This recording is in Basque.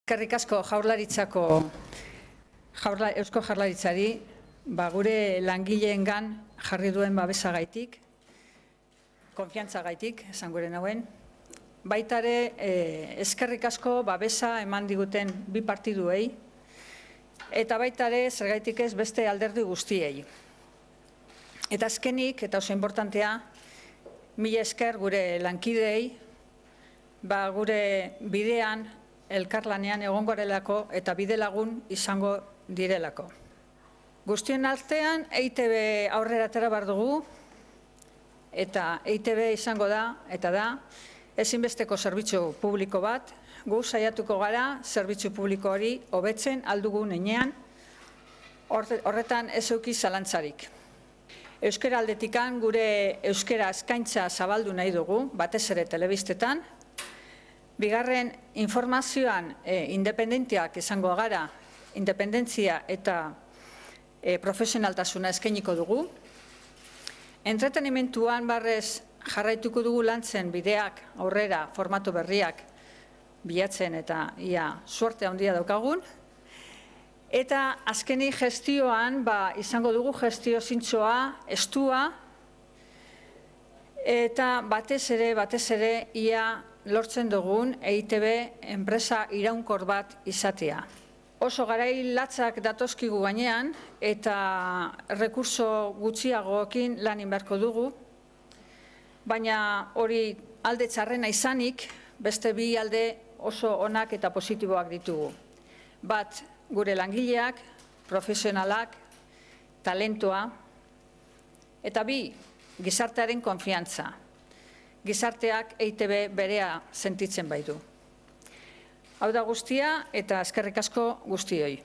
Eskerrik asko Eusko Jaurlaritzari, gure langileengan jarri duen babesagaitik, konfiantzagaitik, esan gure nauen. Baitare, eskerrik asko babesa eman diguten bi partiduei, eta baitare, zergaitik ez beste alderdi guztiei. Eta azkenik, eta oso importantea, mila esker gure lankideei, gure bidean, elkarlanean egongo garelako eta bide lagun izango direlako. Guztien artean, EITB aurrera atera behar dugu, eta EITB izango da, eta da, ezinbesteko zerbitzu publiko bat, gu saiatuko gara zerbitzu publiko hori hobetzen aldugun heinean, horretan ez eduki zalantzarik. Euskara aldetikan gure euskara eskaintza zabaldu nahi dugu, batez ere telebistetan. Bigarren, informazioan independentiak izango gara, independentzia eta profesionaltasuna eskainiko dugu. Entretenimentuan barrez jarraituko dugu lantzen bideak aurrera formatu berriak bilatzen eta suerte handia daukagun. Eta azkenik gestioan izango dugu gestio zintzoa, estua, eta batez ere ia lortzen dugun EITB enpresa iraunkor bat izatea. Oso garai latzak datozkigu gainean eta rekurso gutxiagoekin lan inberko dugu, baina hori alde txarrena izanik, beste bi alde oso onak eta positiboak ditugu. Bat, gure langileak, profesionalak, talentoa, eta bi, gizartearen konfiantza. Gizarteak EITB berea sentitzen baitu. Hau da guztia eta eskerrik asko guztioi.